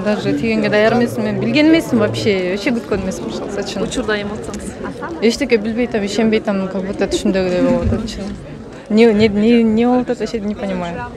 Даже тигенге даяр эмесмин, мен билген эмесмин вообще күткөн эмесмин шылса чын. Учурда эме отсоңуз. Эчтеке билбей атам, ишенбей атам, как будто түшүндөгүдөй болуп атат чын. Не болуп атат, вообще не понимаю.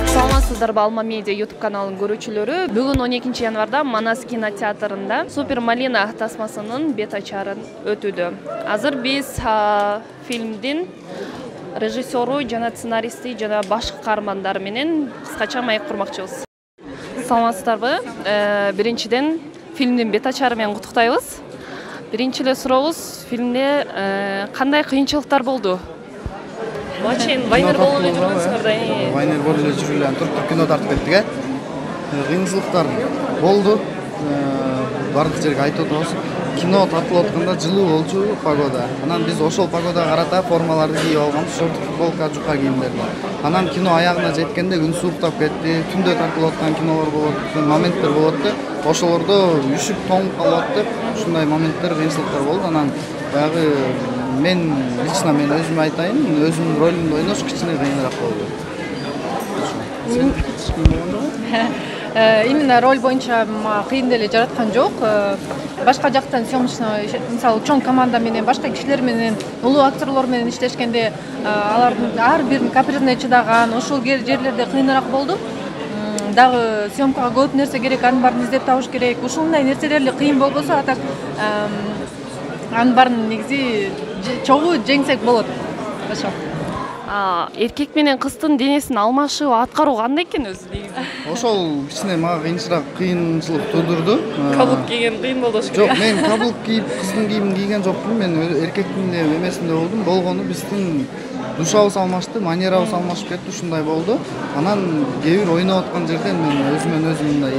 Саламатсыздарбы, Алма Медиа YouTube каналынын көрүүчүлөрү. Бүгүн 12 январда Манас кинотеатрында Супер Малина тасмасынын бет ачарын өтүүдө. Азыр биз фильмдин режиссеру жана сценаристи жана баш каармандары менен кыскача маек курмакчыбыз. Саламатсыздарбы? Биринчиден фильмдин бет ачары менен куттуктайбыз. Биринчи эле сурообуз, фильмде кандай кыйынчылыктар болду? Вайнер болуп эле жүргөнсүңөр да. Вайнер болуп эле жүрүп эле туруп кино тартып кеттик, кыйынчылыктар болду. Бардык жерге айтып атабыз. Кино тартылып атканда жылуу болчу погода. Анан биз ошол погодага карата формаларды кийип алганбыз, шорт футболка, жука кийимдерди. Анан кино аягына жеткенде күн сууктап кетти, түндө тартылып аткан кинолор болот, моменттер болот да. Ошолордо үшүп тоңуп калып атты. Ушундай моменттер, кыйынчылыктар болду. Анан баягы мен лично мен өзүм айтайын, өзүмдүн ролумду ойнош кичине кыйыныраак болду. Именно роль боюнча кыйын деле жараткан жок. Башка жактан съемочный, мисалы, чоң команда менен, башка кишилер менен, улуу актерлор менен иштешкенде алардын ар бирин каприне чыдаган, ошол жерлерде кыйыныраак болду. Дагы съемкага көп нерсе керек, анын баарын издеп табыш керек. Ушундай нерселер эле кыйын болбосо, а так анын баарын негизи чогуу жеңсек болот. Ошо. Эркек менен кыздын денесин алмашып аткаруу кандай экен өзү негизи? Ошол кичине мага кыйынчылык туудурду. Каблук кийген кыйын болду ошо. Жок, мен каблук кийип, кыздын кийимин кийген жокмун. Мен эркектин эмесинде болдум. Болгону биздин душабыз алмашты, манерабыз алмашып кетти, ушундай болду. Анан кээ бир ойноп аткан жерден мен өзүмөн өзүм мындай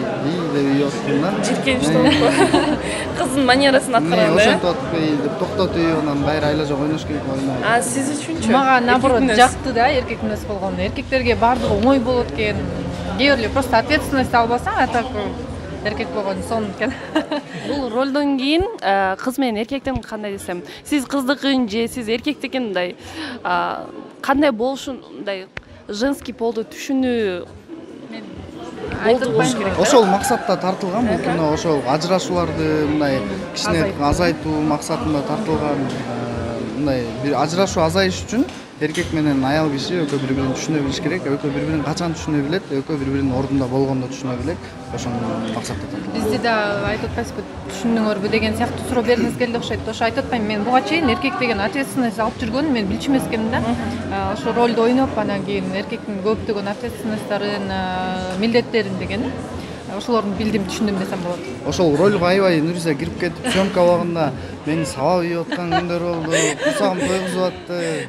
деп үйүп аттым да. Жиркеничти. Кыздын манерасын аткарганда. Ошентип атпай деп токтотуп, анан байра айла жок ойнош керек ойнойт. Сиз үчүнчү? Мага наоборот жакты да, эркек эмес болгону. Эркектерге баардыгы оңой болот экен. Кээ бир просто ответственность албасаң, а так эркек болгон сон экен. Бул ролдон кийин кыз менен эркектен кандай десем, сиз кыздыкын же сиз эркектикин мындай кандай болушундай женский полду түшүнүү болуш керек. Ошол максатта тартылган бул кино, ошол ажырашууларды мындай кичине азайтуу максатында тартылган. Мындай бир ажырашуу азайыш үчүн эркек менен аял киши экөө бири-бирин түшүнө билиш керек, экөө бири-бирин качан түшүнө билет, экөө бири-биринин ордунда болгондо түшүнө билет. Ошону максатта тартылган. Бизде да айтып атпайсызбы, түшүндүңөрбү деген сыяктуу суроо бергиңиз келди окшойт. Ошо айтып атпайм, мен буга чейин эркек деген ответственность алып жүргөнүн мен билчү эмес экенмин да. Ошо ролду ойноп, анан кийин эркектин көптөгөн ответственностьтарын, милдеттерин деген ошолорду билдим, түшүндүм десем болот. Ошол ролго аябай Нуриса кирип кетип, съемка убагында мени сабап ийип аткан күндөр болду, кусагым тойгузуп атты.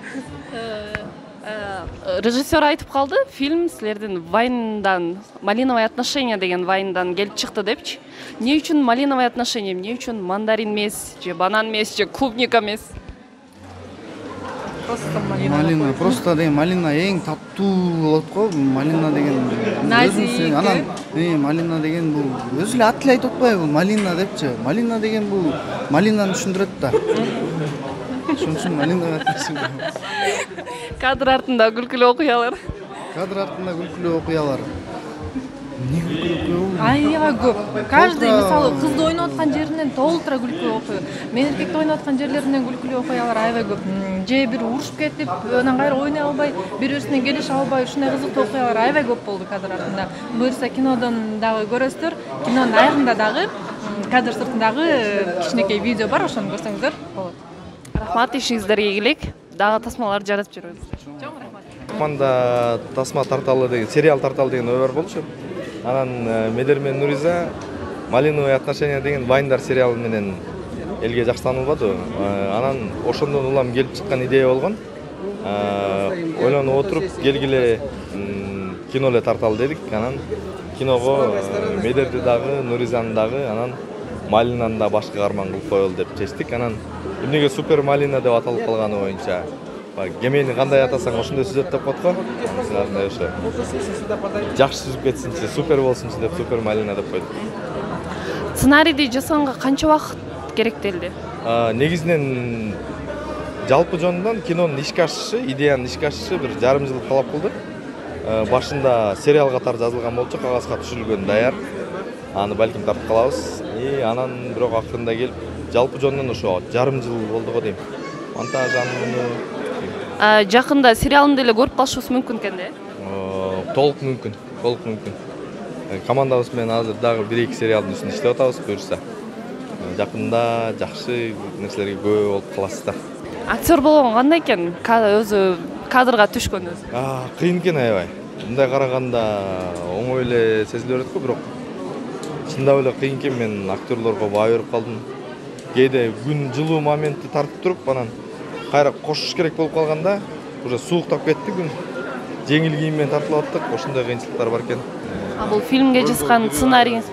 Режиссер айтып калды, фильм силердин вайндан, малиновое отношение деген вайндан келип чыкты депчи. Эмне үчүн малиновое отношение, эмне үчүн мандарин эмес, же банан эмес, же клубника эмес? Просто малина. Просто деген малина эң таттуу болот го. Малина деген назик. Анан малина деген бул өзү эле аты эле айтып атпайбы, малина депчи. Малина деген бул малинаны түшүндүрөт да. Ошон үчүн малинага түшүндүрөт. Кадр артында күлкүлүү окуялар. Кадр артында күлкүлүү окуялар. Эмне күлкүлүү? Аябай көп. Каждый мисалы кызды ойноп аткан жеринен толтура күлкүлүү окуя. Мен эркекти ойноп аткан жерлеринен күлкүлүү окуялар аябай көп. Же бир урушуп кетип, анан кайра ойной албай, бири-бирисине келише албай, ушундай кызыктуу окуялар аябай көп болду кадр артында. Буюрса кинодон дагы көрөсүздөр. Кинонун аягында дагы кадр сыртындагы кичинекей видео бар, ошону көрсөңүздөр болот. Рахмат, ишиңиздерге ийгилик. Дагы тасмаларды жаратып жүрөбүз. Чоң рахмат. Команда тасма тарталы деген, сериал тарталы деген ой бар болчу. Анан Медермен Нуриза Малиновое отношение деген Вайндар сериалы менен элге жакшы таанылбады. Анан ошондон улам келип чыккан идея болгон. Ойлонуп отуруп келгиле кино эле тарталы дедик. Анан киного Медерди дагы, Нуризаны дагы, анан Малинаны да башкы каарман кылып коелу деп чечтик. Анан эмнеге Супер Малина деп аталып калганы боюнча кемени кандай атасаң ошондой сүзөт деп коет го. Анан ошо жакшы сүзүп кетсинчи, супер болсунчу деп Супер Малина деп койдук. Сценарийди жасаганга канча убакыт керектелди? Негизинен жалпы жөнүндөн кинонун ишке ашышы, идеянын ишке ашышы бир жарым жыл талап кылды. Башында сериал катары жазылган болчу, кагазга түшүрүлгөн даяр. Аны балким тартып калабыз. Анан бирок акырында келип, жалпы жөнүндөн ошо жарым жыл болду го дейм. Монтаж Жакында сериалын деле көрүп калышыбыз мүмкүн экен да? Толук мүмкүн. Командабыз менен азыр дагы 1-2 сериалдын үстүндө иштеп атабыз, буюрса. Жакында жакшы нерселерге күбө болуп каласыздар. Актер болгон кандай экен? Өзү кадрга түшкөн өзү. Кыйын экен аябай. Мындай караганда оңой эле сезиле берет го, бирок чындап эле кыйын экен. Мен актерлорго баа берип калдым. Кээде күн жылуу моментти тартып туруп, анан кайра кошуш керек болуп калганда, уже сууктап кетти күн. Жеңил кийим менен тартылып аттык. Ошондой кыйынчылыктар бар экен. Бул фильмге жазган сценарийиңиз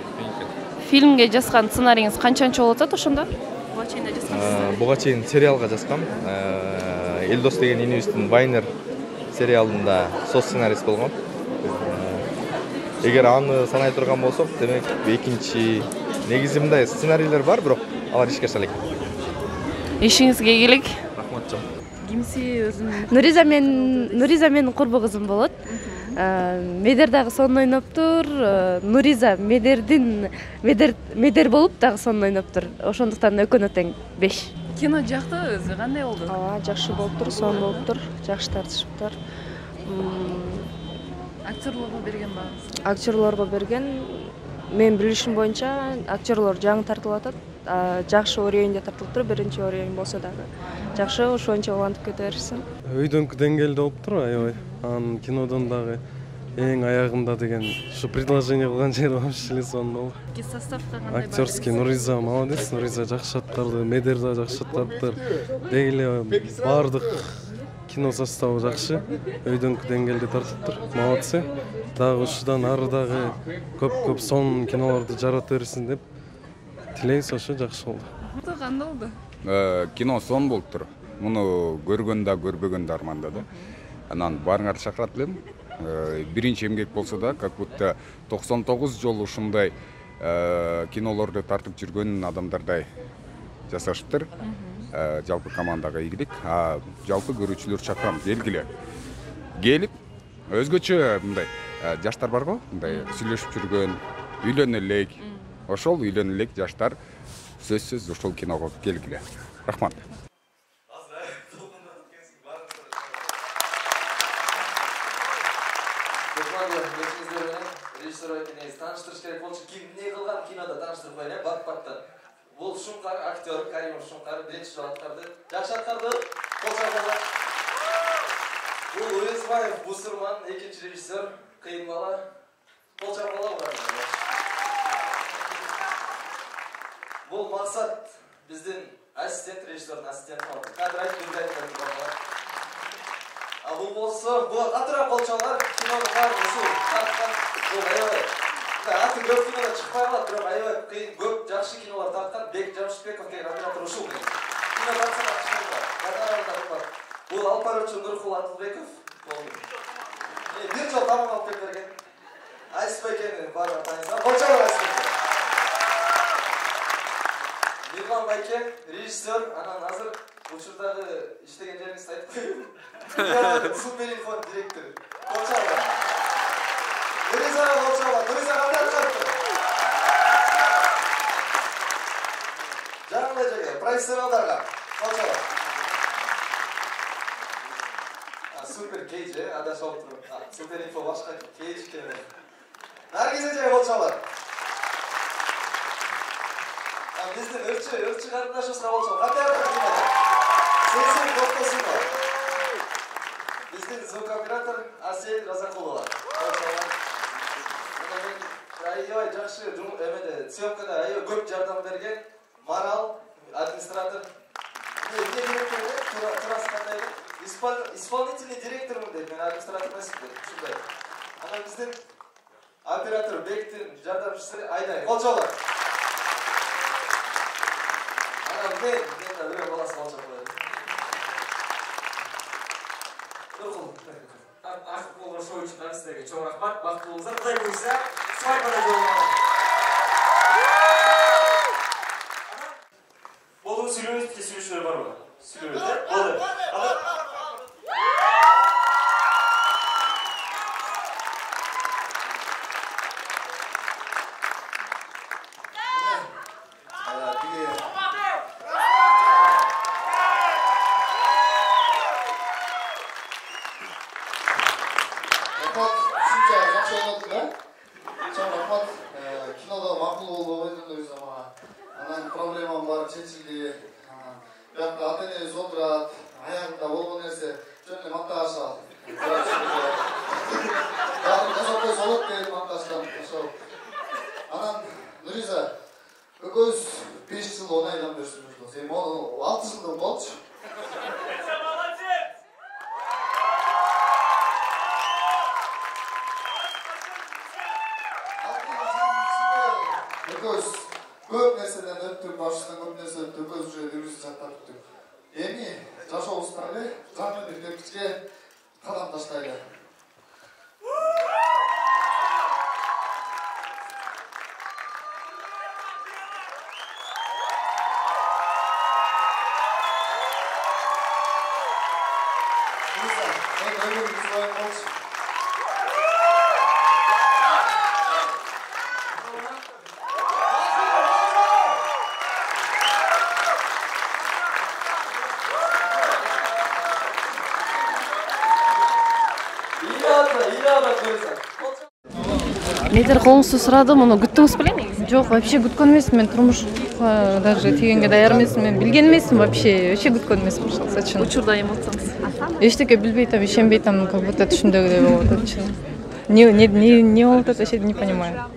канчанчы болуп атат ошондо? Буга чейин да жазгансыз. Буга чейин сериалга жазгам. Элдос деген инибиздин Вайнер сериалында со сценарист болгон. Эгер аны санай турган болсок, демек экинчи негизи мындай сценарийлер бар, бирок алар ишке аша элек. Ишиңизге ийгилик. Рахмат жон. Кимси өзүң? Нуриза менин курбу кызым болот. Медер дагы сонун ойноптур. Нуриза Медер болуп дагы сонун ойноптур. Ошондуктан экөөнө тең 5. Кино жактыбы өзү кандай болду? Жакшы болуптур, сонун болуптур. Жакшы тартышыптыр. Актерлорго берген бааңыз? Актерлорго берген. Мен билишим боюнча актерлор жаңы тартылып атат. Жакшы уровеньде тартылыптыр, биринчи уровень болсо дагы. Жакшы, ошончо улантып кете беришsin. Өйдөнкү деңгээлде болуптур аябай. Анын кинодон дагы эң аягында деген ушу предложение кылган жери вообще эле сонун болду. Составка кандай? Актерский Нуриза молодец, Нуриза жакшы аттарды, Медер да жакшы аттарды. Деги эле баардык кино составы жакшы. Өйдөнкү деңгээлде тартыптыр. Молодцы. Дагы ушудан ары дагы көп сонун кинолорду жарата берсин деп тилейбиз, ошо жакшы болду. Кандай болду? Кино сонун болуптур. Муну көргөн да көрбөгөн да армандады. Анан баарыңарды чакырат элем. Биринчи эмгек болсо да, как будто 99 жолу ушундай кинолорду тартып жүргөн адамдардай жасашыптыр. Жалпы командага ийгилик. Жалпы көрүүчүлөр чакырам, белгиле. Келип, өзгөчө мындай жаштар бар го, мындай сүйлөшүп жүргөн, үйлөнө элек. Ошол үйлөнө элек жаштар сөзсүз ошол киного келгиле. Рахмат. Тааныштырыш керек болчу. Ким эмне кылган кинода тааныштырып коелу, бак-бактан. Бул Шумкар, актер Каримов Шумкар, биринчи жолу аткарды. Жакшы аткарды. Колчагында. Бул Уезбаев Бусурман, экинчи режиссер, кыйын бала. Колчагында бар. Бул Максат биздин ассистент, режиссердин ассистенти болду. Кадр айтып берген бар. Бул болсо, бул катыра колчалар кинонун баарын ушул тарткан. Бул аябай. Аты көп кинода чыкпай калат, бирок аябай кыйын көп жакшы кинолор тарткан. Бек Жамшытбеков деген оператор ушул. Кино тартсак чыккан. Кадрларда бар. Бул Алпарычы Нуркул Атылбеков болду. Бир жол тамам алып кеп берген. Айсбекени баары тааныйсыздар. Колчалар Айсбек. Мирлан Байке, режиссер, анан азыр учурдагы иштеген жериңизди айтып коеюн. Суперинфо директор. Колчалар. Нуриза Колчалар, Нуриза кандай аткарды? Жаңы жерге, профессионалдарга. Колчалар. Супер кейдж, адашып туруп. Суперинфо башка кейдж келе. Наргиз эже Колчалар. Биздин өрчү карындашыбызга болчу. Кандай аткарды? Сесин доктосуна. Биздин звукооператор Асель Разакулова. Аябай жакшы эмеде съемкада аябай көп жардам берген Марал администратор. Эмне керек эле? Турасы кандай? Исполнительный директормун дейт. Мен администратор эмесмин дейт. Ушундай. Анан биздин оператор Бектин жардамчысы Айдай. Кол чабыңдар. Анан мен да бирөө баласы кол чабып коёду. Акып болгон шоу үчүн сиздерге чоң рахмат. Бактылуу болуңуздар. Кудай буйрса, свадьбада жолугабыз. Болду, сүйлөбөйбүз, сүйлөшүүлөр барбы? Сүйлөбөйбүз, болду. Кинода макул болуп ойнойбуз ама. Анан проблемам бар, чечилди. Биякта ата-энебиз отурат, аягында болгон нерсе жөн эле макташат. Баарын жасап койсо болот деп макташкан. Ошол. Анан Нуриза экөөбүз 5 жыл 10 айдан бери сүйлөшөбүз. Эми 6 жылдан болчу. Экөөбүз көп нерседен өттүк, башынан көп нерсе өттүк, экөөбүз уже жүрүп жаттырдык. Эми жашообуздагы жаңы бир тепкичке кадам таштайлы. Метр колуңузду сурадым, муну күттүңүз белең негизи? Жок, вообще күткөн эмесмин. Мен турмушка даже тийгенге даяр эмесмин. Мен билген эмесмин вообще күткөн эмесмин шалса чын. Учурда эмоцияңыз? Эчтеке билбей атам, ишенбей атам, как будто түшүндөгүдөй болуп атат чын. Не болуп атат, вообще не понимаю.